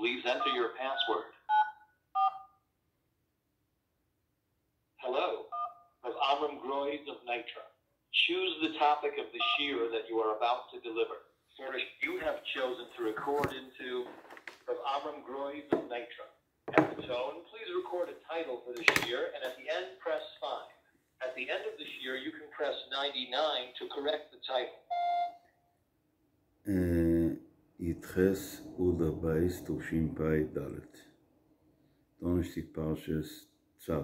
Please enter your password. Hello, Rav Amram Groiz of Nitra. Choose the topic of the shiur that you are about to deliver. First, you have chosen to record into Rav Amram Groiz of Nitra. At the tone, please record a title for the shiur, and at the end, press 5. At the end of the shiur, you can press 99 to correct the title. י"ח אדר ב' תשפ"ד, דאנערשטאג פרשת צו.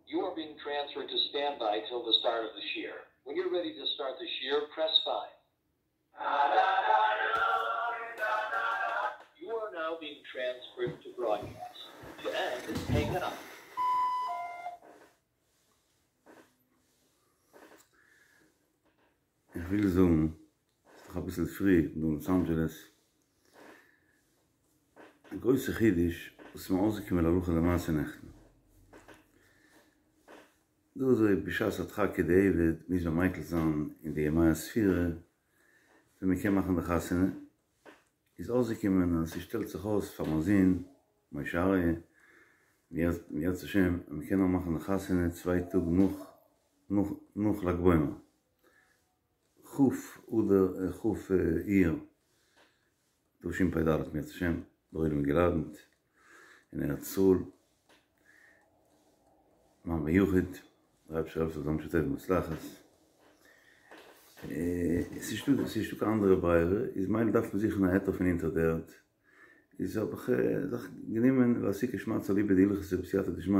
You are being transferred to standby till the start of the shiur. When you're ready to start the shiur, press 5. You are now being transferred to broadcast. To end, hang up. איך וויל זאגן, ס'איז דאך אביסל פרי דא אין לאס אנדזשעלעס, א גרויסע חידוש וואס איז מיר אויסגעקומען להלכה למעשה נעכטן. דא אזוי בשעת הדחק כדאיעבד מוז מען מיקל זיין אין די ימי הספירה ווען מ'קען מאכן די חתונה, איז אויסגעקומען אז ס'שטעלט זיך אויס פאר מיין זון משה אריה אם ירצה השם אז מ'קען נאר מאכן די חתונה צוויי טאג נאך נאך ל"ג בעומר, כ' אדר כ' אייר תשפ"ד אם ירצה השם, דער עולם איז געלאדענט אין ארץ ישראל, מיין בן יחיד, דער אייבערשטער העלפט ס'זאל זיין בשעה טובה ומוצלחת, עס איז נישטא קיין אנדערע ברירה, איז מילא דארף מען זוכן א היתר פון אונטער די ערד, איז האב איך זיך גענומען לאסוקי שמעתתא אליבא דהלכתא בסייעתא דשמיא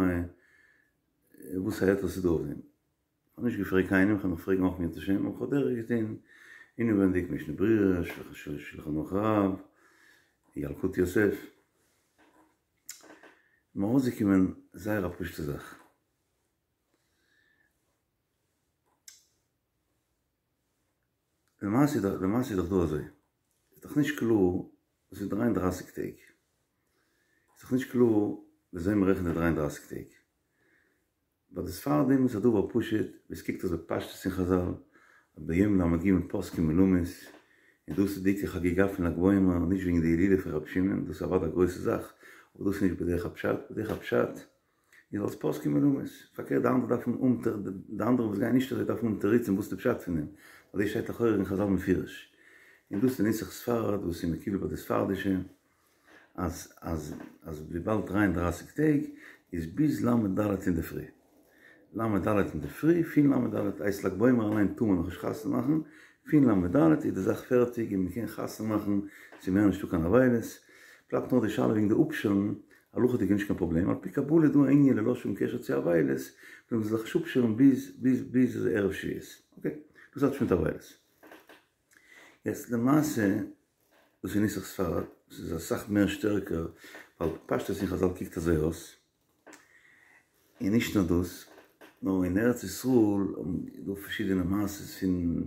וואס א היתר ס'איז דא אויף דעם. כ'האב נישט געפרעגט קיינעם, כ'וועל נאך פרעגן אויך אם ירצה השם, אבער כ'האב דורך געטון אינעווענדיג משנה ברורה, שלחן ערוך הרב, ילקוט יוסף, מיר ארויסגעקומען זייער א פשוטע זאך. למעשה למעשה איז דאך דא אזוי, איז דאך נישט קלאר, עס איז דריי און דרייסיג טעג, איז דאך נישט קלאר וויאזוי מ'רעכנט די דריי און דרייסיג טעג, ביי די ספרדים איז א דבר פשוט, ווי עס קוקט אויס בפשטות אין חזל, אז ביום ל"ג פוסקים מלמות, און דאס איז די עיקר חגיגה פון ל"ג בעומר, נישט וועגן די הילולא פון רבי שמעון, דאס איז אוודאי א גרויסע זאך, אבער דאס איז נישט בדרך הפשט, בדרך הפשט איז אלס פוסקים מלמות, פארקערט די אנדערע דארפן האבן די אנדערע וואס גייען נישט אזוי דארפן האבן תירוצים וואס איז די פשט פון דעם, ווייל דאס שטייט לכאורה אין חזל מפורש, און דאס איז די נוסח ספרד וואס איז מקובל ביי די ספרדישע. אז אז אז וויבאלד דריי און דרייסיג טעג איז ביז ל' ד' אינדערפרי, ל' ד' אינדערפרי, פון ל' ד' הייסט ל"ג בעומר אליין טאר מען נאכנישט חתונה מאכן, פון ל' ד' איז די זאך פערטיג און מען קען חתונה מאכן, ס'איז מער נישטא קיין אבילות, בלייבט נאר די שאלה וועגן די אפשערן, הלכה'דיג איז נישט קיין פראבלעם, על פי קבלה איז דא א ענין ללא שום קשר צו אבילות, מען זאל זיך נישט אפשערן ביז ביז ביז ערב שבועות, אקעי, דאס האט נישט מיט אבילות. יעצט למעשה דאס איז נוסח ספרד, דאס איז אסאך מער שטערקער, ווייל פשטות אין חזל קוקט אזוי אויס, און נישט נאר דאס, נאר אין ארץ ישראל איז דא פארשידענע מעשות פון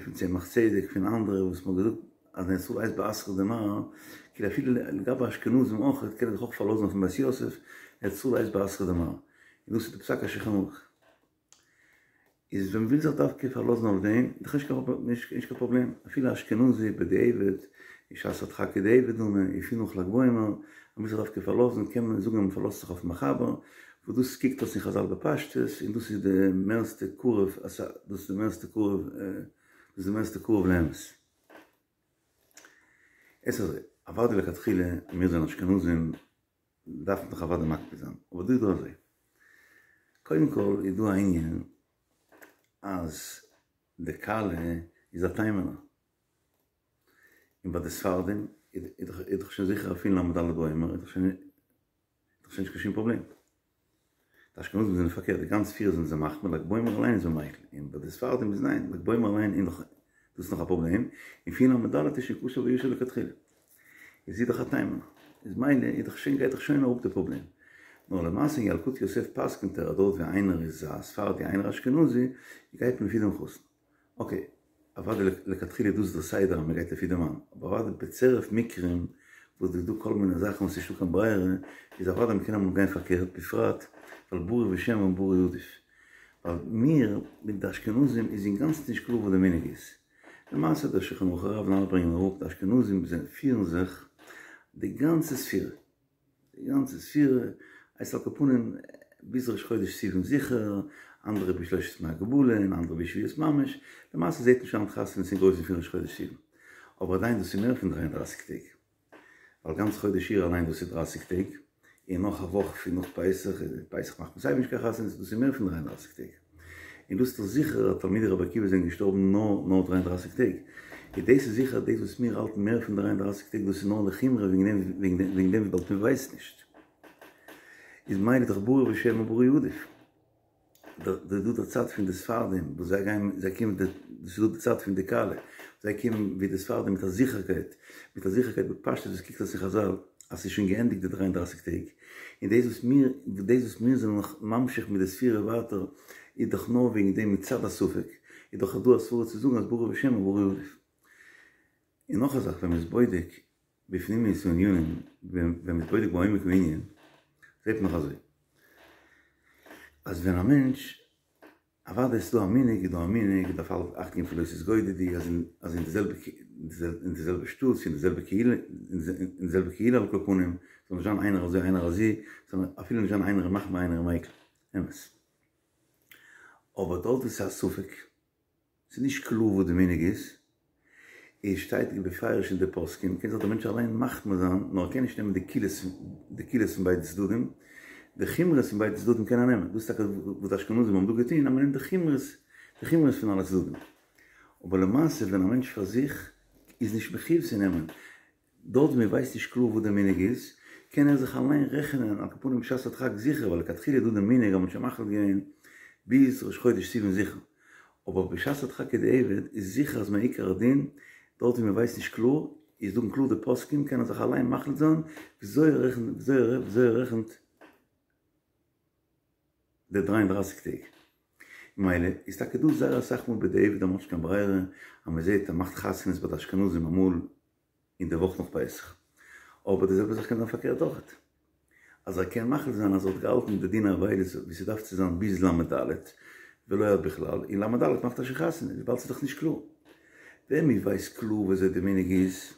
פון צמח צדק פון אנדערע וואס מ'האט געזאגט אז אין ארץ ישראל הייסט באתרא דמר, כאילו אפילו לגבי אשכנזים אויך קען ער זיך אויך פארלאזן אויפן בית יוסף, ארץ ישראל הייסט באתרא דמר, און דאס איז די פסק השולחן ערוך. איז ווען מ'וויל זיך דווקא פארלאזן אויף דעם, איז דאך נישט קיין פראבלעם, אפילו אשכנזי בדיעבד, איז שעת הדחק כדיעבד דמי, און פון נאך ל"ג בעומר, אז מ'וויל זיך דווקא פארלאזן, קען מען זאגן אז מ'פארלאזט זיך אויפן מחבר, וואס דאס קוקט אויס אין חזל בפשטות, און דאס איז די מערסטע קרוב, דאס איז די מערסטע קרוב, דאס איז די מערסטע קרוב לאמת. עס איז אזוי, אוודאי לכתחילה, מיר זענען אשכנזים, דארף מען דאך אוודאי מקפיד זיין, אבער דא איז דא אזוי, קודם כל איז דא א ענין אז די כלה איז א תימנ'ער, און ביי די ספרדים איז דאך שוין זיכער פון ל"ד בעומר איז דאך שוין נישט קיין שום פראבלעם. די אשכנזים זענען פארקערט, די גאנץ ספירה זענען זיי מחמיר, ל"ג בעומר אליין איז מען מיקל, און ביי די ספרדים איז ניין, ל"ג בעומר אליין איז נאך, דאס איז נאך א פראבלעם, און פון ל"ד איז שוין כשר וישר לכתחילה. איז זי דאך א תימנ'ער, איז מילא איז דאך שוין גייט דאך שוין אראפ די פראבלעם. נאר למעשה אין ילקוט יוסף פסק'נט ער אז דארט ווי איינער איז א ספרדי איינער אשכנזי, גייט מען לפי דעם חתן. אקעי, אוודאי לכתחילה איז דאס דער סדר אז מען גייט לפי די מאן, אבער אוודאי בצירוף מקרים וואס איז דא כל מיני זאכן וואס נישטא קיין ברירה, איז אוודאי מען קען אמאל גיין פארקערט, בפרט ווייל ברור ושמא ברור עדיף. ווייל מיר מיט די אשכנזים איז אינגאנצן נישט קלאר וואס די מנהג איז. למעשה דער שולחן ערוך הרב און אלע ברענגען אראפ די אשכנזים זיי פירן זיך די גאנצע ספירה, די גאנצע ספירה הייסט על כל פנים ביז ראש חודש סיוון זיכער, אנדערע ביז שלושת ימי הגבלה און אנדערע ביז שבועות ממש, למעשה זעט מען שוין היינט חתונות אין גרויסן פון ראש חודש סיוון, אבער עדיין דאס איז מער פון דריי און דרייסיג טעג. ווייל גאנץ חודש אייר אליין דאס איז דרייסיג טעג, און נאך א וואך פון נאך פסח, און פסח מאכט מען סייווי נישט קיין חתונות, דאס איז מער פון דריי און דרייסיג טעג. און דאס איז דאך זיכער אז תלמידי רבי עקיבא זענען געשטארבן נאר נאר דריי און דרייסיג טעג. און דאס איז זיכער אז דאס וואס מיר האלטן מער פון דריי און דרייסיג טעג דאס איז נאר לחומרא וועגן דעם וועגן דעם וויבאלד מען ווייסט נישט. איז ממילא דאך ברור ושמא ברור עדיף. דא דא די צד פון די ספרדים וואס זיי גייען זיי קומען די דאס איז דא די צד פון די קהלה זיי קומען ווי די ספרדים מיט א זיכערקייט מיט א זיכערקייט בפשטות וואס קוקט אויס אין חזל אז ס'איז שוין געענדיגט די דריי און דרייסיג טעג און דאס וואס מיר דאס וואס מיר זענען נאך ממשיך מיט די ספירה ווייטער איז דאך נאר וועגן דעם מצד הספק איז דאך דא א סברא צו זאגן אז ברור ושמא ברור עדיף. און נאך א זאך ווען מ'איז בודק בפנימיות הענינים, ווען מ'איז בודק בעומק הענין, זעט מען נאך אזוי, אז ווען א מענטש, אוודאי ס'איז דא א מנהג, איז דא א מנהג, מ'דארף אכט געבן פון לא תתגודדו, אז אין אז אין די זעלבע אין די זעלבע שטאט, צו אין די זעלבע קהילה, אין די זעלבע קהילה על כל פנים, זאל נישט זיין איינער אזוי איינער אזוי, זאל אפילו נישט זיין איינער מחמיר איינער מיקל, אמת. אבער דארט וואו ס'איז א ספק, ס'איז נישט קלאר וואס די מנהג איז, עס שטייט בפירוש אין די פוסקים, קען זיך דער מענטש אליין מחמיר זיין, נאר ער קען נישט נעמען די קולות די קולות פון ביידע צדדים, די חומרות פון ביידע צדדים קען ער נעמען, דאס איז טאקע וואס די אשכנזים האבן דא געטון, אז מען נעמט די חומרות די חומרות פון אלע צדדים, אבער למעשה ווען א מענטש פאר זיך איז נישט מחיוב צו נעמען, דארט ווי מען ווייסט נישט קלאר וואס די מנהג איז, קען ער זיך אליין רעכענען על כל פנים בשעת הדחק זיכער, ווייל לכתחילה איז דא די מנהג אז מען האט שוין מחליט געווען ביז ראש חודש סיוון זיכער, אבער בשעת הדחק בדיעבד איז זיכער אז מעיקר הדין דארט ווי מען ווייסט נישט קלאר, איז זאגן קלאר די פוסקים קען ער זיך אליין מחליט זיין וויאזוי ער רעכנט וויאזוי ער רעכנט די דריי און דרייסיג טעג. ממילא איז טאקע דא זייער אסאך מאל בדיעבד אז מען האט נישט קיין ברירה אז מען זעט אז מען מאכט חתונות ביי די אשכנזים אמאל אין די וואך נאך פסח. אבער די זעלבע זאך קען זיין פארקערט אויכעט. אז ער קען מחליט זיין אז ער האט געהאלטן די דין אבילות ווי ס'דארף צו זיין ביז ל' ד' ולא עד בכלל, און ל' ד' מאכט ער שוין חתונה, וויבאלד ס'איז דאך נישט קלאר. ווען מ'ווייסט קלאר וויאזוי די מנהג איז,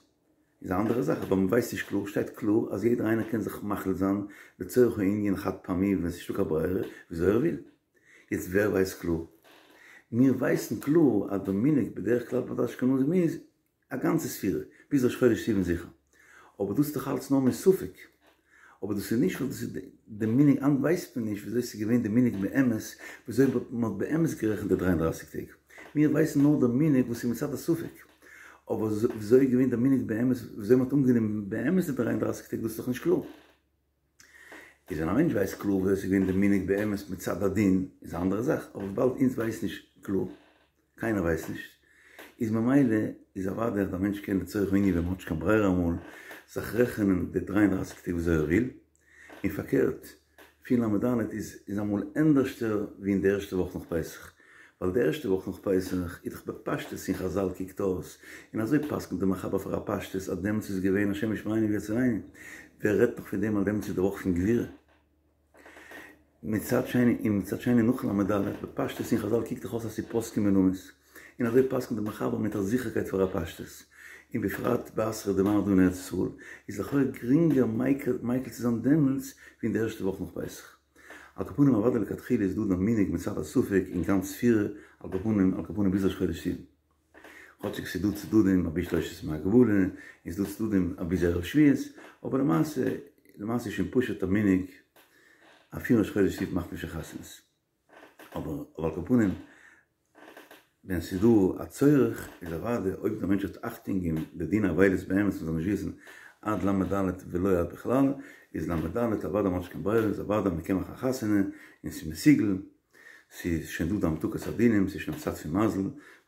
איז א אנדערע זאך, אבער מ'ווייסט נישט קלאר, שטייט קלאר אז יעדער איינער קען זיך מחליט זיין לצורך הענין חד פעמי ווען ס'איז נישטא קיין ברירה וויאזוי ער וויל. יעצט ווער ווייסט קלאר? מיר ווייסן קלאר אז די מנהג בדרך כלל ביי די אשכנזים איז א גאנצע ספירה, ביז ראש חודש סיוון זיכער. אבער דאס איז דאך אלץ נאר מספק. אבער דאס איז נישט ווייל דאס איז די מנהג, היינט ווייסט מען נישט וויאזוי ס'איז געווען די מנהג באמת, וויאזוי מען האט באמת גערעכנט די דריי און דרייסיג טעג. מיר ווייסן נאר די מנהג וואס איז מצד הספק. אבער וויאזוי איז געווען די מנהג באמת, וויאזוי מען האט אנגענומען באמת די דריי און דרייסיג טעג, דאס איז דאך נישט קלאר. איז ווען א מענטש ווייסט קלאר וויאזוי ס'איז געווען די מנהג באמת מצד הדין איז א אנדערע זאך, אבער וויבאלד אונז ווייסן נישט קלאר, קיינער ווייסט נישט, איז ממילא איז אוודאי אז א מענטש קען לצורך הענין ווען מ'האט נישט קיין ברירה אמאל זיך רעכענען די דריי און דרייסיג טעג וויאזוי ער וויל, און פארקערט פון ל' ד' איז איז אמאל ענדערשטער ווי אין די ערשטע וואך נאך פסח, ווייל די ערשטע וואך נאך פסח איז דאך בפשטות אין חזל קוקט אויס, און אזוי פסק'נט די מחבר פאר א פשטות אז דעמאלטס איז געווען השם ישמרינו ויצילנו, ווער רעדט נאך פון דעם אז דעמאלטס איז די וואך פון גבורה. מצד שני און מצד שני נאך ל' ד' בפשטות אין חזל קוקט דאך אויס אז ס'איז פוסקים מלמות, און אזוי פסק'נט די מחבר מיט א זיכערקייט פאר א פשטות, און בפרט באתרא דמר דא אין ארץ ישראל, איז לכאו' גרינגער מיקל צו זיין דעמאלטס ווי אין די ערשטע וואך נאך פסח. על כל פנים אוודאי לכתחילה איז דא דער מנהג מצד הספק אין גאנץ ספירה, על כל פנים על כל פנים ביז ראש חודש סיוון. כאטשיג ס'איז דא צדדים אבי שלושת ימי הגבלה, און ס'איז דא צדדים אבי ערב שבועות, אבער למעשה למעשה איז שוין פשוט א מנהג אז פון ראש חודש סיוון מאכט מען שוין חתונות. אבער אבער על כל פנים ווען ס'איז דא א צורך איז אוודאי אויב דער מענטש וועט אכטונג געבן די דין אבילות באמת מ'זאל נישט וויסן עד ל' ד' ולא עד בכלל איז ל' ד' אוודאי מ'האט נישט קיין ברירה איז אוודאי מ'קען מאכן א חתונה און ס'איז מסוגל ס'איז שוין דא די המתקת הדינים ס'איז שוין א צד פון מזל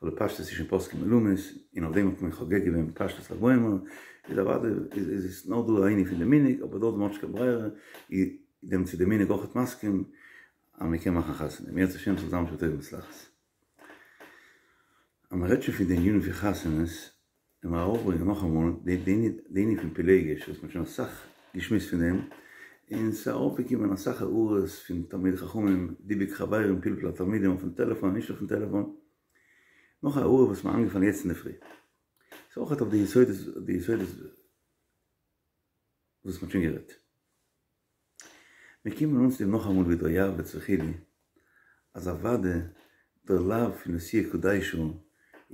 ווייל בפשטות איז שוין פוסקים מלמות און אויף דעם האט מען חוגג געווען בפשטות ל"ג בעומר איז אוודאי איז עס נאר דא א ענין פון די מנהג אבער דארט וואו מ'האט נישט קיין ברירה איז דעמאלטס איז די מנהג אויכעט מסכים אז מען קען מאכן חתונה, אם ירצה השם ס'זאל זיין בשעה טובה ומוצלחת. אז מען רעדט שוין פון די ענינים פון חתונות, לאמיר ארויפברענגען נאכאמאל די ענין פון פילגש וואס מען האט שוין אסאך געשמועסט פון דעם, און ס'איז ארויפגעקומען אסאך הערות פון תלמידי חכמים, דיבוק חברים, פלפול התלמידים אויפן טעלעפאן און נישט אויפן טעלעפאן. נאך א הערה וואס מיר איינגעפאלן יעצט אינדערפרי. ס'איז אויך אויף די יסודות, די יסודות וואס מ'האט שוין גערעדט. מיר קומען אן צו דעם נאכאמאל ווי דער יעבץ וכו', אז אוודאי דער לאו פון נשואי קדשה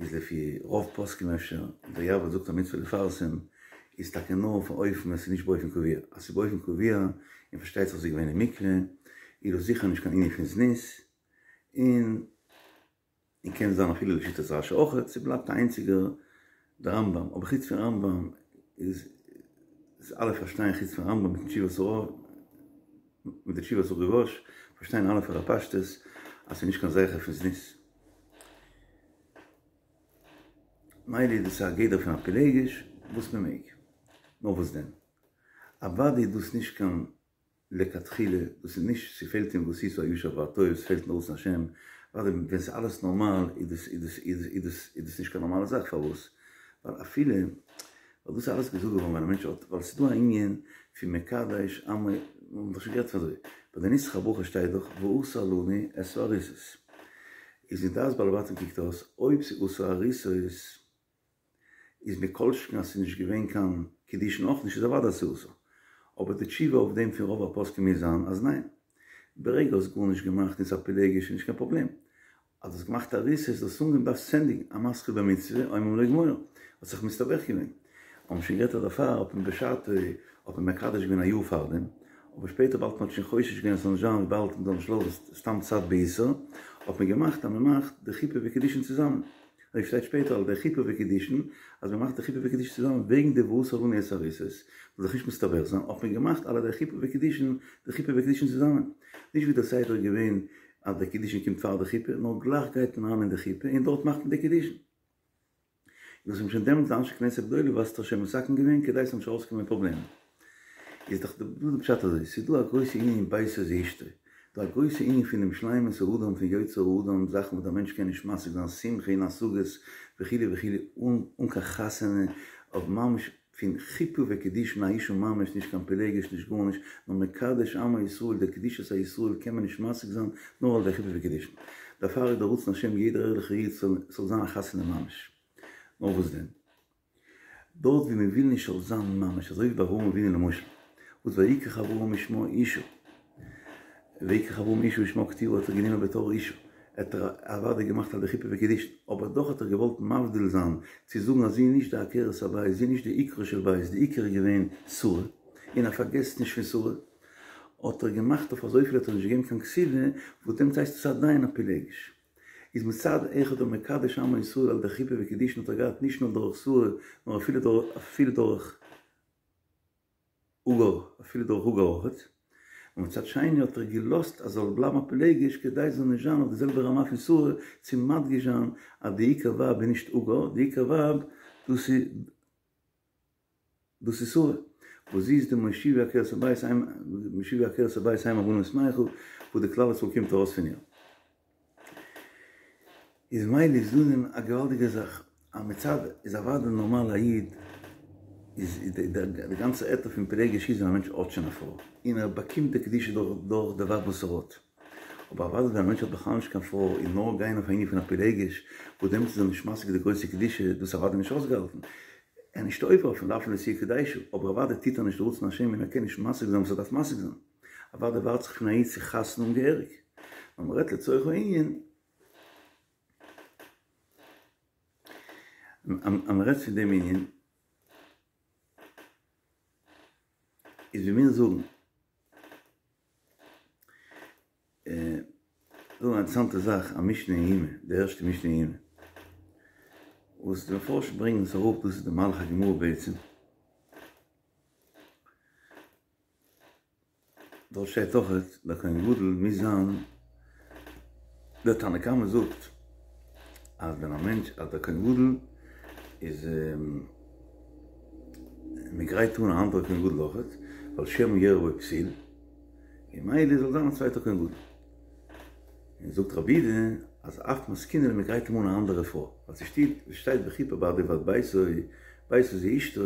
איז לפי רוב פוסקים אפשר, און דער יעבץ זאגט א מצוה לפרסם, איז טאקע נאר אויף א אופן ווען ס'איז נישט באופן קבוע, אז ס'איז באופן קבוע און פארשטייט זיך ס'איז געווען אין מקווה, איז דאס זיכער נישט קיין ענין פון זנות, און און קען זיין אפילו לשיטת רשי אויכעט, ס'בלייבט א איינציגער די רמב"ם, אבער חוץ פון רמב"ם איז איז אלע פארשטייען חוץ פון רמב"ם מיטן תשובת הרא"ש מיט די תשובת הריב"ש פארשטייען אלע פאר א פשטות אז ס'איז נישט קיין זכר פון זנות. מילא איז דאס א גדר פון א פילגש וואס מ'מעג. נאר וואס דען? אוודאי איז דאס נישט קיין לכתחילה, דאס איז נישט, ס'פעלט אין ועשית הישר והטוב, ס'פעלט אין רצון השם, אוודאי ווען ס'איז אלעס נארמאל איז דאס איז דאס איז איז דאס איז דאס נישט קיין נארמאלע זאך, פארוואס? ווייל אפילו, ווייל דאס איז אלעס געזאגט געווארן ווען א מענטש האט, ווייל ס'איז דא א ענין פון מקדש עמו, מ'האט דאך שוין גערעדט פון אזוי, ביי די נוסח הברכה שטייט דאך ועשה לנו את הארוסות, איז אין דעת בעלי בתים קוקט אויס אויב ס'איז עשה ארוסות, איז מכל שכן אז ס'איז נישט געווען קיין קידושין אויך נישט איז אוודאי אז ס'איז אסור. אבער די תשובה אויף דעם פון רוב הפוסקים מוז זיין אז ניין. ברגע האסט גארנישט געמאכט און ס'איז א פילגש איז נישט קיין פראבלעם. אז האסט געמאכט ארוסות דאס אנגיין דארפסט ענדיגן המתחיל במצוה אומרים לו גמור. האסט זיך מסתבך געווען. האבן שוין גערעדט אז דערפאר האט מען בשעתו האט מען מקדש געווען א יאר פארדעם. אבער שפעטער באלד מ'האט שוין חושש געווען אז ס'זאל נישט זיין וויבאלד מ'זאל נישט לאזן סתם צייט באיסור האט מען געמאכט אז מ'מאכט די חופה וקידושין צוזאמען. אזוי שטייט שפעטער על ידי חופה וקידושין, אז מען מאכט די חופה וקידושין צוזאמען וועגן די ועשה לנו את הארוסות, זאל זיך נישט מסתבך זיין, האט מען געמאכט על ידי חופה וקידושין די חופה וקידושין צוזאמען, נישט ווי דער סדר איז געווען אז די קידושין קומט פאר די חופה, נאר גלייך גייט מען אריין אין די חופה און דארט מאכט מען די קידושין. און דאס האבן שוין דעמאלטס די אנשי כנסת הגדולה וואס שוין מתקן געווען כדי ס'זאל נישט ארויסקומען פראבלעמען. איז דאך דא די פשט אזוי, ס'איז דא א גרויסע ענין אין ביתו זו אשתו, דא א גרויסע ענין פון דעם שלימות האדם פון יוצר האדם, זאכן וואס דער מענטש קען נישט משיג זיין, שמחה און השגות וכו' וכו', אן אן קיין חתונה, אויף ממש פון חופה וקידושין א אשה ממש, נישט קיין פילגש נישט גארנישט, נאר מקדש עמו ישראל, די קדושת הישראל קען מען נישט משיג זיין נאר על ידי חופה וקידושין. דערפאר איז דער רצון השם יעדער ערליכער איד זאל ס'זאל זיין א חתונה ממש. נאר וואס דען? דארט ווי מען וויל נישט זאל זיין ממש אזוי ווי ביי אברהם אבינו למשל, וואס ויקח אברהם ושמה אשה, ויקח אברהם אשה ושמה קטורה האט ער גענומען בתור אשה, האט ער אוודאי געמאכט על ידי חופה וקידושין, אבער דאך האט ער געוואלט מבדיל זיין, צו זאגן אז זי איז נישט די עקרת הבית, זי איז נישט די עיקרה של בית, די עיקר איז געווען שרה, און ער פארגעסט נישט פון שרה, האט ער געמאכט אויף אזויפיל האט ער נישט געגעבן קיין כתובה, וואס דעמאלטס הייסט עס עדיין א פילגש. איז מצד אחד דער מקדש עמו ישראל על ידי חופה וקידושין האט ער געהאט נישט נאר דורך שרה נאר אפילו דורך אפילו דורך הגר אפילו דורך הגר אויכעט, און מצד שני האט ער געלאזט אז זאל בלייבן א פילגש כדי זאל נישט זיין אויף די זעלבע רמה פון שרה צו מדגיש זיין אז די עיקר ווייב איז נישט הגר די עיקר ווייב דאס איז דאס איז שרה, וואס זי איז די מושיבי עקרת הבית אם, מושיבי עקרת הבית אם הבנים שמחה, וואס די כלל ישראל קומט ארויס פון איר. איז מילא איז דא אין דעם א געוואלדיגע זאך, אז מצד איז אוודאי נארמאל א איד, איז די גאנצע היתר פון פילגש איז ווען א מענטש האט שוין א פרוי, און ער באקומט די קדושה דורך די ווייב וואס ער האט. אבער אוודאי ווען א מענטש האט בכלל נישט קיין פרוי און נאר גיין אויף א ענין פון א פילגש, וואס דעמאלטס איז ער נישט משיג די גרויסע קדושה, דאס איז אוודאי נישט אויסגעהאלטן. ער איז נישט עובר אויפן לאו פון נשואה קדשה, אבער אוודאי טוט ער נישט די רצון השם און ער קען נישט משיג זיין וואס ער דארף משיג זיין. אוודאי ווארט זיך פון א איד צו חתונה האבן געהעריג. נאר מען רעדט לצורך הענין, אז מען רעדט פון דעם ענין, איז ווי מיר זאגן, דא א אינטערעסאנטע זאך, א משנה אין יומא, די ערשטע משנה אין יומא, וואס די מפרשים ברענגען עס אראפ, דאס איז די מהלך הגמרא בעצם, דארט שטייט אויך דער כהן גדול מוז זיין, דער תנא קמא זאגט אז ווען א מענטש אז דער כהן גדול איז מען גרייט אן א אנדערע כהן גדול אויכעט, ווייל שמא יראה בו פסול, און מילא זאל זיין א צווייטער כהן גדול. און זאגט רבי יהודה אז אף מתקינין מען גרייט אים אן א אנדערע פרוי, ווייל ס'שטייט ס'שטייט וכפר בעדו ובעד ביתו, ביתו זו אשתו,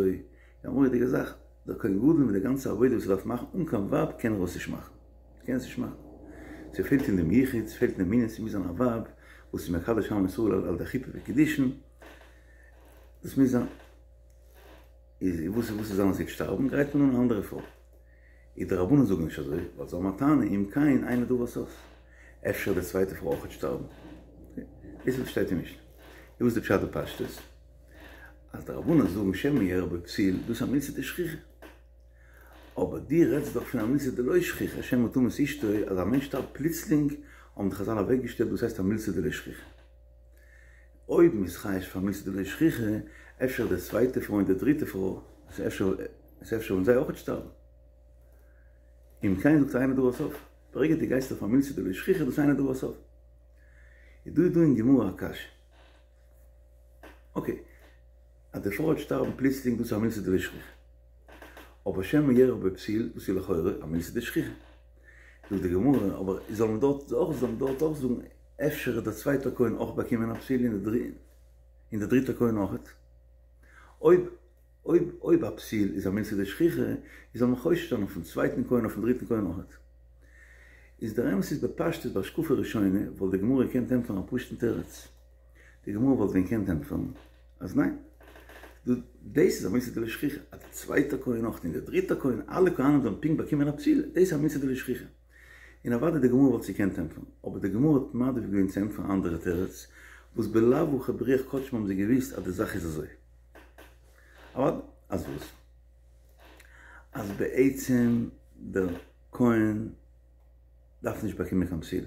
א מורא'דיגע זאך, דער כהן גדול מיט די גאנצע עבודה וואס ער דארף מאכן אן קיין ווייב קען ער עס נישט מאכן, קען עס נישט מאכן, ס'פעלט אין דעם יחוד, ס'פעלט אין דעם ענין, ס'מוז זיין א ווייב. וואס איז מקדש עם ישראל על ידי חופה וקידושין, דאס מוז זיין. איז וואס וואס וועט זיין אז זי וועט שטארבן גרייט מען אן א אנדערע פרוי. איז די רבנן זאגן נישט אזוי, ווייל זיי האבן א טענה אם כן אין לדבר סוף. אפשר וועט די צווייטע פרוי אויכעט שטארבן. דאס איז וואס שטייט אין משנה. איז וואס די פשט בפשטות? אז די רבנן זאגן שמא יארע בו פתיל, דאס איז א מילתא דשכיחא. אבער דו רעדסט דאך פון א מילתא דלא שכיחא, שמא תמות אשתו, אז א מענטש שטארבט פלוצלינג, האבן די חזל אוועקגעשטעלט דאס הייסט א מילתא דלא שכיחא. אויב מ'איז חושש פאר מילתא דלא שכיחא, אפשר די צווייטע פרוי און די דריטע פרוי, אפשר אפשר וועלן זיי אויכעט שטארבן. אם כן זאגט אין לדבר סוף. ברגע דו גייסט אויף א מילתא דלא שכיחא דאס אין לדבר סוף. איז דא איז דא אין גמרא א קשיא. אקעי, אז די פרוי וועט שטארבן פלוצלינג דאס איז א מילתא דלא שכיחא. אבער שמא יארע בו פתיל דאס איז לכאורה א מילתא דשכיחא. זאגט די גמרא, אבער זאל מען דארט אויך זאל מען דארט אויך זאגן אפשר וועט דער צווייטער כהן אויך באקומען א פתיל און דער דריטער כהן אויכעט. אויב אויב אויב א פתיל איז א מילתא דשכיחא איז זאל מען חושש זיין אויפן צווייטן כהן אויפן דריטן כהן אויכעט. איז דער אמת איז בפשטות בהשקפה ראשונה וואלט די גמרא געקענט ענטפערן א פשוט'ן תירוץ. די גמרא וואלט ווען געקענט ענטפערן אז ניין, דאס איז א מילתא דלא שכיחא, אז דער צווייטער כהן אויך און דער דריטער כהן, אלע כהנים זאלן פונקט באקומען א פתיל, דאס איז א מילתא דלא שכיחא. און אוודאי די גמרא וואלט עס געקענט ענטפערן, אבער די גמרא האט מעדיף געווען צו ענטפערן א אנדערע תירוץ, וואס בלאו הכי ברוח קדשם האבן זיי געוואוסט אז די זאך איז אזוי. אוודאי אז וואס? אז בעצם דער כהן. דארף נישט באקומען קיין פתיל.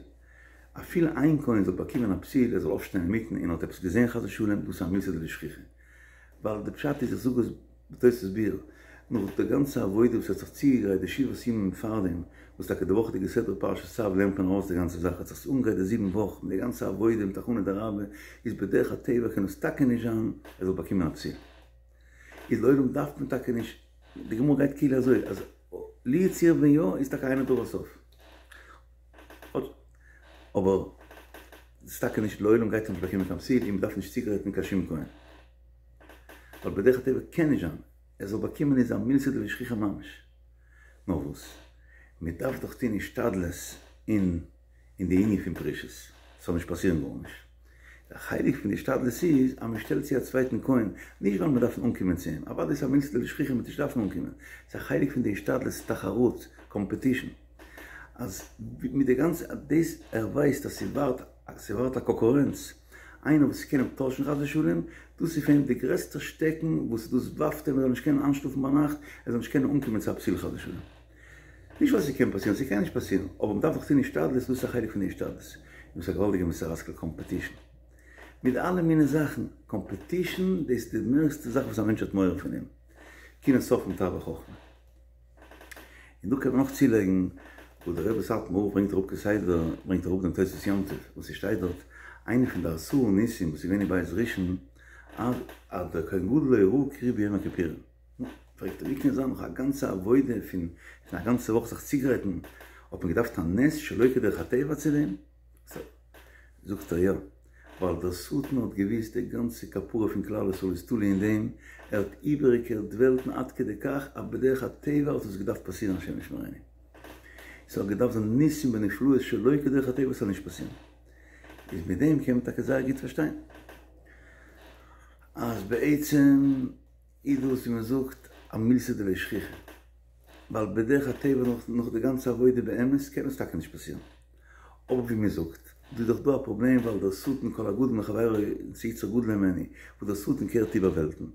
אפילו איין כהן זאל באקומען א פתיל, ער זאל אויפשטיין אינמיטן און האט עפעס געזען חס ושלום, דאס איז א מילתא דלא שכיחא. ווייל די פשט איז, איך זאג עס בתוספות ביאור, נאך די גאנצע עבודה וואס ער האט זיך צוגעגרייט די שבעת ימים פארדעם, וואס טאקע די וואכעדיגע סדרה פרשת צו לערנט מען ארויס די גאנצע זאך, ער האט זיך אנגעגרייט די זיבן וואך מיט די גאנצע עבודה מיט הכנה דרבה, איז בדרך הטבע קען עס טאקע נישט זיין ער זאל באקומען א פתיל. איז לעולם דארף מען טאקע נישט, די גמרא גייט כאילו אזוי אז לו יצוייר ווען יא איז טאקע אין לדבר סוף. אבער ס'איז טאקע נישט לעולם גייט ער נישט באקומען קיין פתיל און מ'דארף נישט צוגרייטן קיין שום כהן. ווייל בדרך הטבע קען נישט זיין ער זאל באקומען איז א מילתא דלא שכיחא ממש. נאר וואס? מ'דארף דאך טון השתדלות אין. אין די ענין פון פרישות, ס'זאל נישט פאסירן גארנישט. א חלק פון די השתדלות איז אז מ'שטעלט צו א צווייטן כהן, נישט ווייל מ'דארף אנקומען צו אים, אוודאי ס'איז א מילתא דלא שכיחא מ'וועט נישט דארפן אנקומען, ס'איז א חלק פון די השתדלות תחרות, קאמפעטישן, אז מיט די גאנצע דאס ער ווייסט אז ס'ווארט ס'ווארט א קאנקורענץ, איינער וואס קען אים טוישן חס ושלום, דאס איז פאר אים די גרעסטע שטעקן וואס דאס ווארפט אים ער זאל נישט קענען איינשלאפן ביינאכט, ער זאל נישט קענען אנקומען צו א פתיל חס ושלום. נישט ווייל ס'קען פאסירן, ס'קען נישט פאסירן, אבער מ'דארף דאך טון השתדלות, דאס איז א חלק פון די השתדלות, און דאס איז א געוואלדיגע מוסר השכל קאמפעטישן. מיט אלע מיני זאכן, קאמפעטישן דאס איז די מערסטע זאך וואס א מענטש האט מורא פון אים, קנאת סופרים תרבה חכמה. און דא קען מען נאך צולייגן וואס דער רבי סאטמאר רב ברענגט אראפ כסדר, ברענגט אראפ דעם תוספות יום טוב, וואס ס'שטייט דארט, איינע פון די עשרה ניסים וואס איז געווען אין בית ראשון, אז דער כהן גדול לא ראה קרי ביום הכיפורים. נו, פרעגט ער, ווי קען זיין נאך א גאנצע עבודה פון פון א גאנצע וואך זיך צוגרייטן, האט מען געדארפט א נס שלא כדרך הטבע צו דעם? זאגט ער, יא, ווייל דער שטן האט געוואוסט די גאנצע כפרה פון כלל ישראל איז תלוי אין דעם, ער האט איבערגעקערט וועלטן עד כדי כך אז בדרך הטבע האט עס געדארפט פאסירן השם ישמרינו. ס'האט געדארפט זיין ניסים ונפלאות שלא כדרך הטבע ס'זאל נישט פאסירן. איז מיט דעם קען מען טאקע זייער גוט פארשטיין אז בעצם. איז דאס ווי מען זאגט א מילתא דלא שכיחא, ווייל בדרך הטבע נאך נאך די גאנצע עבודה באמת קען עס טאקע נישט פאסירן, אבער ווי מען זאגט דא איז דאך דא א פראבלעם ווייל דער שטן כל הגדול מחבירו יצר גדול הימנו, וואס דער שטן קערט איבער וועלטן,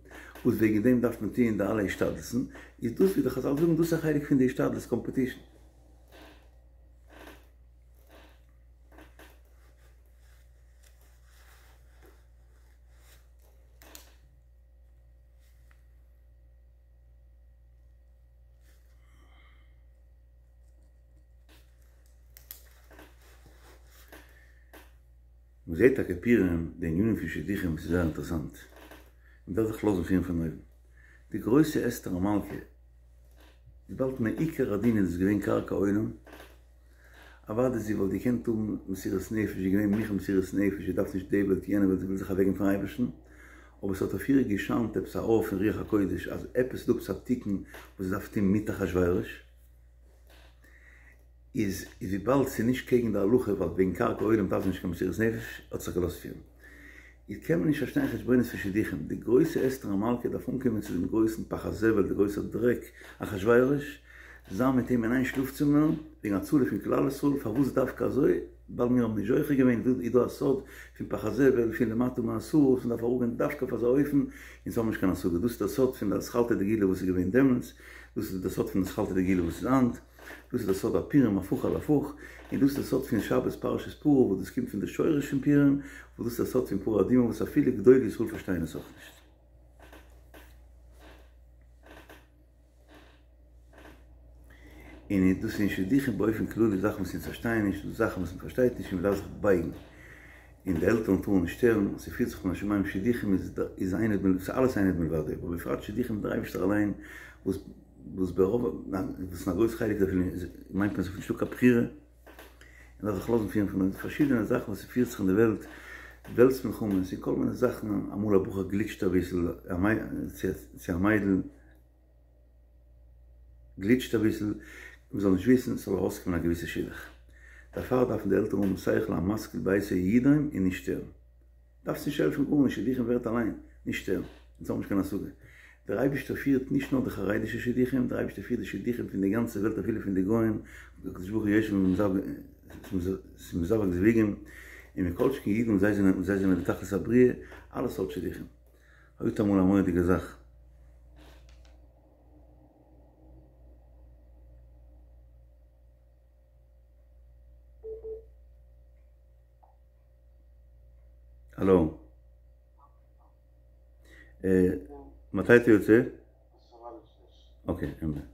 וואס וועגן דעם דארף מען טוען די אלע השתדלות'ן, איז דאס ווי די חזל זאגן דאס איז א חלק פון די השתדלות קאמפעטישן. מען זעט טאקע פורים די ענינים פון שידוכים ס'איז זייער אינטערעסאנט, מען דארף זיך לאזן פירן פון אויבן, די גרויסע אסתר המלכה וויבאלד מעיקר הדין איז עס געווען קרקע עולם, אוודאי זי וואלט געקענט האבן מסירות נפש, זי איז געווען מוכן מסירות נפש, זי דארף נישט די וועלט יענע וועלט, זי וויל זיך אוועקגעבן פארן אייבערשטן, אבער ס'האט אויף איר געשיינט עפעס א אור פון רוח הקודש אז עפעס איז דא עפעס א תיקון וואס זי דארף טון מיט אחשורוש. איז וויבאלד ס'איז נישט קעגן די הלכה ווייל וועגן קרקע עולם דארף זי נישט קיין מסירות נפש האט זיך געלאזט פירן. איז קען מען נישט פארשטיין חשבונות פון שידוכים, די גרויסע אסתר המלכה דארף אנקומען צו דעם גרויסן פח הזבל די גרויסע דרעק אחשורוש, זיין מיט אים אין איין שלאף צימער, וועגן הצלה פון כלל ישראל, פארוואס דווקא אזוי? ווייל מיר האבן נישט זוכה געווען, איז דא א סוד פון פח הזבל פון למטה מעשרה וואס מ'דארף אראפגיין דווקא אויף אזא אופן, אונז האבן נישט קיין השגה, דאס איז דער סוד פון די אתחלתא דגאולה וואס איז געווען דעמאלטס, דאס איז דער סוד פון אתחלתא דגאולה וואס איז היינט. דאס איז דער סוד הפורים הפוך על הפוך, און דאס איז דער סוד פון שבת פרשת פרה וואס דאס קומט פון די שורש פון פורים, וואס דאס איז דער סוד פון פרה אדומה וואס אפילו גדולי ישראל פארשטייען עס אויך נישט. און דאס איז אין שידוכים באופן כללי זאכן וואס אונז פארשטייען נישט, דאס זאכן וואס מען פארשטייט נישט און מען דארף זיך בייגן, און די עלטערן טארן נישט שטערן, ס'פירט זיך מן השמים שידוכים איז איז אין עוד מלבדו, ס'איז אלעס אין עוד מלבדו, אבער בפרט שידוכים מיט דער אייבערשטער אליין וואס וואס ברוב וואס אין א גרויס חלק דערפון איז מיינט מען ס'איז נישטא קיין בחירה, און דארף זיך לאזן פירן פון די פארשידענע זאכן וואס ס'פירט זיך אין די וועלט, וועלטס מלחמות און כל מיני זאכן, אמאל א בחור גליטשט אביסל, צו א מיידל גליטשט אביסל, מ'זאל נישט וויסן, ס'זאל ארויסקומען א געוויסע שידוך. דערפאר דארפן די עלטערן האבן שכל המשכיל ביתו ידום און נישט שטערן. דארפסט נישט העלפן גארנישט, שידוכים ווערט אליין, נישט שטערן, אונז האבן נישט קיין השגה. דער אייבערשטער פירט נישט נאר די חרדישע שידוכים, דער אייבערשטער פירט די שידוכים פון די גאנצע וועלט אפילו פון די גוים, הקדוש ברוך הוא יושב ומזווג זיווגים, און מכל שכן אידן וואס זיי זענען זיי זענען די תכלית הבריאה, אלע סארט שידוכים. הערט אמאל א מורא'דיגע זאך. הלו. מתי אתה יוצא? אוקיי, אין בעיה.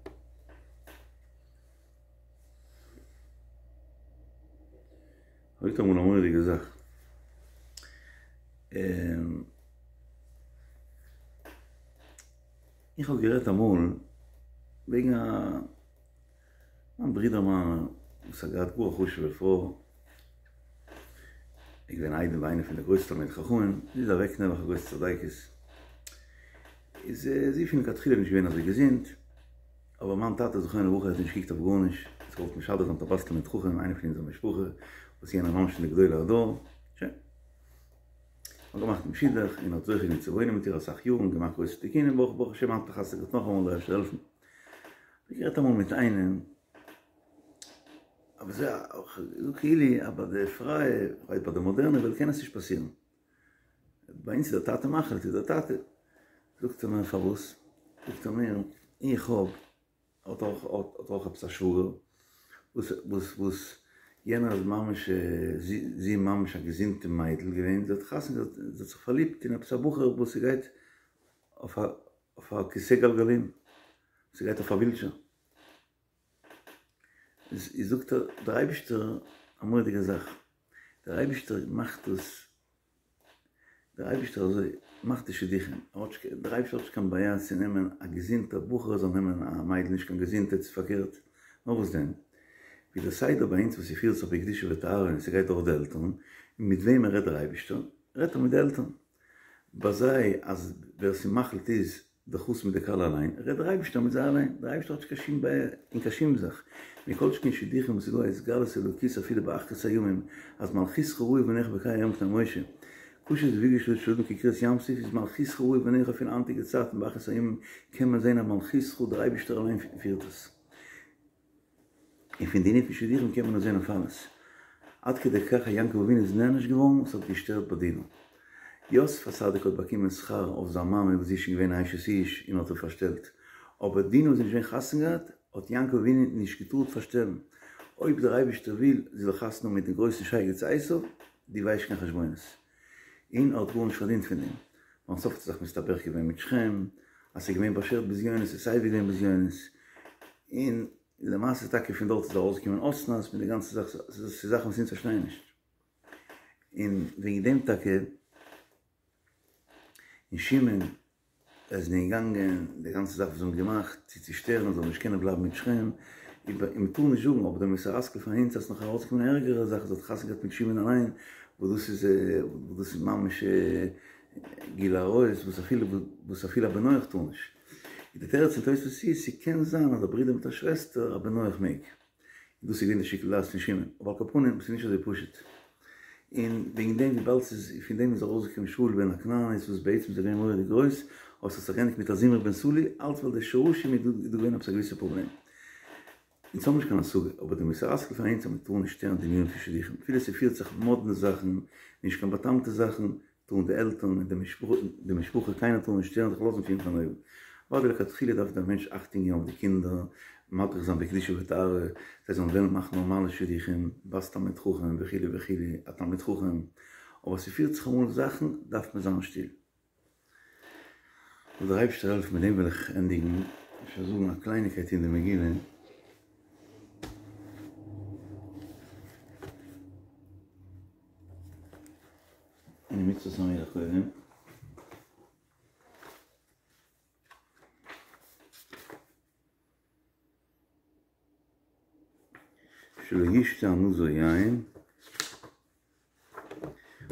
הערט אמאל א מורא'דיגע זאך. איך האב גערעדט אמאל וועגן א מיין ברודער מיינער וואס האט געהאט גאר א חשוב'ע פרוי, איז געווען איידעם ביי איינע פון די גרויסע תלמידי חכמים, זי איז אוועק נעבעך א גרויסע צדיקת, איז זי פון לכתחילה נישט געווען אזוי געזונט, אבער מיין טאטע זכרונו לברכה האט נישט געקוקט אויף גארנישט, האט געוואלט משדך זיין מיט א בת תלמיד חכם, איינע פון אונזער משפחה, וואס יענער ממש פון די גדולי הדור, שוין. מ'האט געמאכט דעם שידוך, און האט זוכה געווען צו וואוינען מיט איר אסאך יארן, געמאכט גרויסע תיקונים, ברוך ברוך השם היינט האט חתונה געהאט נאכאמאל, דער אייבערשטער זאל העלפן. כ'האב גערעדט אמאל מיט איינעם, אבער זיי כאילו אז ביי די פרייע, כ'ווייס ביי די מאדערנע וועלט קען עס נישט פאסירן. ביי אונז איז דער טאטע מחליט איז דער טאטע. זאגט ער מיר פארוואס? זאגט ער מיר איך האב האט אויך האט אויך עפעס א שוואגער וואס וואס וואס יענער איז ממש זי זי איז ממש א געזונטע מיידל געווען זי האט חתונה געהאט זי האט זיך פארליבט אין עפעס א בחור וואס ס'גייט אויף א אויף א כסא גלגלים, ס'גייט אויף א ווילטשער. איז זאגט ער, דער אייבישטער, א מורא'דיגע זאך, דער אייבישטער מאכט דאס, דער אייבישטער אזוי מאכט די שידוכים, ער האט נישט, דער אייבישטער האט נישט קיין בעיה צו נעמען א געזונטע בחור זאל נעמען א מיידל נישט קיין געזונטע צו פארקערט, נאר וואס דען, ווי דער סדר ביי אונז וואס ס'פירט זיך בקדושה וטהרה און ס'גייט דורך די עלטערן, און מיט וועמען רעדט דער אייבישטער? רעדט ער מיט די עלטערן. ביי זיי אז ווער ס'מחליט איז די חתן מיט די כלה אליין, רעדט דער אייבערשטער מיט זיי אליין, דער אייבערשטער האט נישט קיין שום בעיה אין קיין שום זאך, מכל שכן שידוכים וואס איז דא א התגלות אלוקית אפילו באחרית הימים, אז מלכותך ראו בניך בקיי היום פני משה, קשה זיווגו של אדם כקריעת ים סוף איז מלכותך ראו בניך אפילו היינטיגע צייטן באחרית הימים קען מען זען אז מלכותך דער אייבערשטער אליין פירט עס. און פון די ענין פון שידוכים קען מען עס זען אויף אלעס. עד כדי כך אז יעקב אבינו איז נענש געווארן, עס האט געשטערט ביי דינה. יוסף הצדיק האט באקומען שכר אויף זיין מאמע וואס זי איז שוין געווען א אשת איש און האט אים פארשטעלט. אבער דינה וואס איז נישט געווען חתונה געהאט, האט יעקב אבינו נישט געטארט פארשטעלן. אויב דער אייבערשטער וויל זי זאל חתונה האבן מיט דעם גרויסן שייגעץ עשו, דו ווייסט קיין חשבונות. און ער האט גארנישט פארדינט פון דעם. ביים סוף האט ער זיך מסתבך געווען מיט שכם, אז ס'איז געווען באשערט בזיונות איז סייווי געווען בזיונות, און למעשה טאקע פון דארט איז ארויסגעקומען אסנת מיט די גאנצע זאך, ס'איז זאכן וואס אונז פארשטייען נישט, און וועגן דעם טאקע און שמעון איז געגאנגען די גאנצע זאך וואס זיי האבן געמאכט צו צושטערן זאל נישט קענען בלייבן מיט שכם, און מ'טאר נישט זאגן אבער די מוסר השכל פאר אונז אז ס'נאך ארויסגעקומען א ערגערע זאך אז ער האט חתונה געהאט מיט שמעון אליין, וואס דאס איז וואס דאס איז ממש גילוי עריות וואס אפילו וואס אפילו א בן נח טאר נישט. איז די תירוץ פון תוספות איז, ס'קען זיין אז א ברודער מיט א שוועסטער א בן נח מעג. און דאס איז געווען די שיקול דעת פון שמעון, אבער על כל פנים ס'איז נישט אזוי פשוט, און וועגן דעם וויבאלד ס'איז פון דעם איז ארויסגעקומען שאול בן הכנענית וואס בעצם איז ער געווען מורא'דיג גרויס, אבער ס'האט זיך געענדיגט מיט א זמרי בן סלוא, אלץ ווייל די שורשים איז דא געווען עפעס א געוויסע פראבלעם. אונז האבן נישט קיין השגה, אבער די מוסר השכל פאר אונז אז מ'טאר נישט שטערן די ענינים פון שידוכים, אפילו ס'פירט זיך מאדנע זאכן, נישט קיין בא'טעמ'טע זאכן, טארן די עלטערן און די משפחה קיינער טאר נישט שטערן זיך לאזן פירן פון אויבן. אוודאי לכתחילה דארף דער מענטש אכטונג געבן אויף די קינדער, מדריך זיין בקדושה וטהרה, זיי זאלן וועלן מאכן נארמאלע שידוכים, בת תלמיד חכם וכו' וכו', א תלמיד חכם, אבער ס'פירט זיך אמאל זאכן דארף מען זיין שטיל. זאל דער אייבערשטער העלפן מיט דעם וועל איך ענדיגן, אפשר זאגן א קלייניקייט אין די מגילה. אין מצות המלך קודם. שלא ישתה הנזיר יין,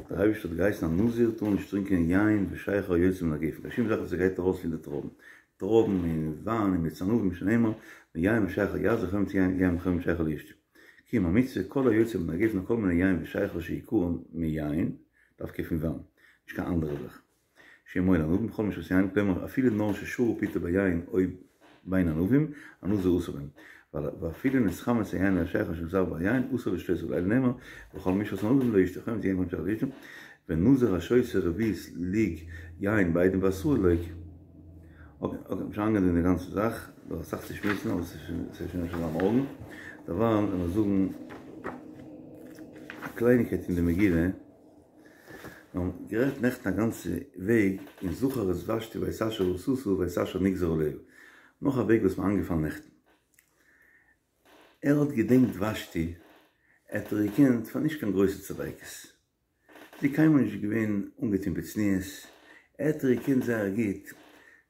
דער אייבערשטער האט געהייסן א נזיר טאר נישט טרינקען יין ושכר היוצא מן הגפן, קיין שום זאך וואס גייט ארויס פון די טרויבן, טרויבן און וויין און מיץ ענבים שנאמר, מיין ושכר יעז וחומץ יין וחומץ שכר לא ישתה. קיים המצוה כל היוצא מן הגפן כל מיני יין ושכר שעיקרן מיין, דווקא פון וויין, נישט קיין אנדערע זאך. שהוא מועיל לענבים כל משרת יין, כלומר אפילו נאר ששרה פיתו ביין או בין ענבים, הנזיר אסור בהם. ואפילו נתחמץ היין או השכר שנתערב ביין, אסור לשתותו ולעיל נאמר, וכל משרת ענבים לא ישתה, חומץ יין וחומץ שכר לא ישתה, ונזיר השותה רביעית לוג יין בעדים בהתראה לוקה. אקעי, אקעי, מ'שוין אריינגיין אין די גאנצע זאך, דא אסאך צו שמועסן, אבער ס'איז שוין אפשר זיין מארגן. דערווייל וועל מיר זאגן א קלייניקייט אין די מגילה. מיר האבן גערעדט נעכטן א גאנצע וועג אין זכר את ושתי ואת אשר עשתה ואת אשר נגזר עליה. נאך א וועג וואס מיר איינגעפאלן נעכטן. ער האט געדענקט ושתי, ער האט איר געקענט פאר נישט קיין גרויסע צדיקת. זי איז קיינמאל נישט געווען אנגעטון בצניעות, ער האט איר געקענט זייער גוט,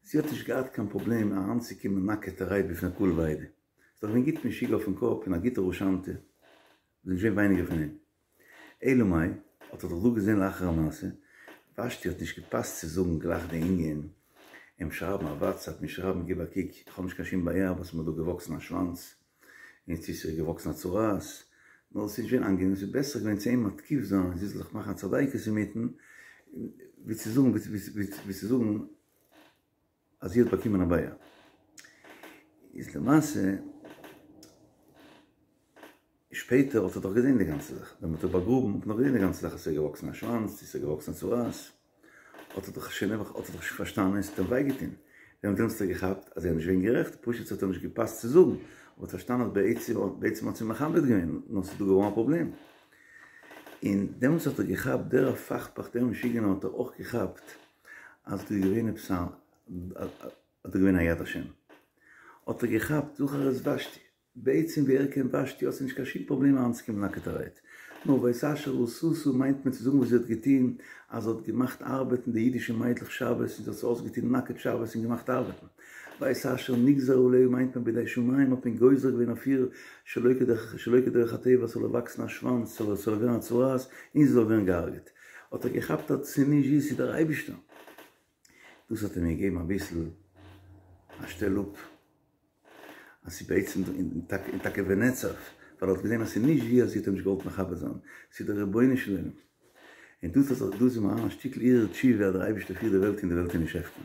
זי האט נישט געהאט קיין פראבלעם אריינצוקומען נאקעטערהייט בפני קהל ועדה, זי איז דאך געווען גוט משוגע אויפן קאפ און א גוטע רשענטע, זי איז נישט געווען ווייניגער פון אים. אלא מאי, האט ער דאך דא געזען לאחר המעשה, ושתי האט נישט געפאסט צו זאגן גלייך די ענין, אים שרייבן א וואטסעפפ און שרייבן גיב א קוק, איך האב נישט קיין שום בעיה אבער ס'איז מיר דא געוואקסן א שוואנץ, און צו ס'איז געוואקסן א צרעת, נאר ס'איז נישט געווען איינגענעם, ס'איז בעסער געווען צו אים מתקיף זיין און זי זאל זיך מאכן א צדיקת אינמיטן, ווי צו זאגן ווי צו זאגן אז זי האט באקומען א בעיה. איז למעשה. שפעטער האט ער דאך געזען די גאנצע זאך, ווען מ'האט איר באגראבן האט מען דאך געזען די גאנצע זאך אז ס'איז געוואקסן א שוואנץ, צו ס'איז געוואקסן א צרעת, האט ער דאך שוין נעבעך האט ער דאך שוין פארשטאנען און ס'האט אים וויי געטון, ווען דעמאלטס האט ער געכאפט אז ער איז נישט געווען גערעכט, פשוט ס'האט אים נישט געפאסט צו זאגן, אבער האט פארשטאנען אז בעצם בעצם האט זי מכבד געווען, נאר ס'איז דא געווארן א פראבלעם. און דעמאלטס האט ער געכאפט, דער הפכפך דער משוגענער האט ער אויך געכאפט אז דא איז געווען עפעס א, אז דא איז געווען א יד השם. האט ער געכאפט זכר את ושתי. בעצם ווי ער קען ושתי האט זי נישט קיין שום פראבלעם אריינצוקומען נאקעטערהייט. נאר ואת אשר עשתה מיינט מען צו זאגן וואס זי האט געטון, אז זי האט געמאכט ארבעטן די אידישע מיידלעך שבת און זי האט זיי אויסגעטון נאקעט שבת און געמאכט ארבעטן. ואת אשר נגזר עליה מיינט מען בידי שמים האט מען גוזר געווען אויף איר שלא כדרך שלא כדרך הטבע ס'זאל איר וואקסן א שוואנץ ס'זאל איר ווערן א צרעת און זי זאל ווערן געהארגעט. האט ער געכאפט אז ס'איז נישט זי ס'איז דער אייבישטער. דאס האט אים געגעבן אביסל א שטעל אפ. אז ס'איז בעצם און טאקע ונעצב, ווייל ער האט געזען אז ס'איז נישט זי אז זי האט אים נישט געוואלט מכבד זיין, ס'איז דער רבונו של עולם. און דאס האט דאס איז מיר א שטיקל הרהור תשובה אז דער אייבערשטער פירט די וועלט און די וועלט איז נישט הפקר.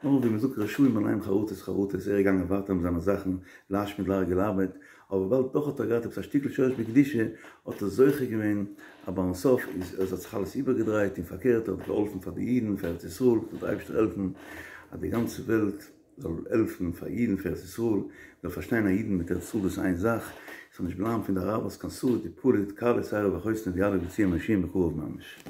נאר ווי מ'זאגט רשעים עליהם חרטות חרטות, ער איז געגאנגען ווייטער מיט זיינע זאכן, להשמיד להרוג ולאבד, אבער וויבאלד דאך האט ער געהאט עפעס א שטיקל שורש בקדושה, האט ער זוכה געווען אז ביים סוף איז עס האט זיך אלעס איבערגעדרייט און פארקערט ער האט געהאלפן פאר די אידן פאר ארץ ישראל, זאל דער אייבערשטער העלפן אז די גאנצע וועלט זאל העלפן פאר אידן פאר ארץ ישראל, מ'זאל פארשטיין אז אידן מיט ארץ ישראל דאס איז איין זאך, עס זאל נישט בלייבן פון די אראבערס קיין שריד ופליט, כלה שערו וחותנו ויליף לציון מושיען בקרוב ממש.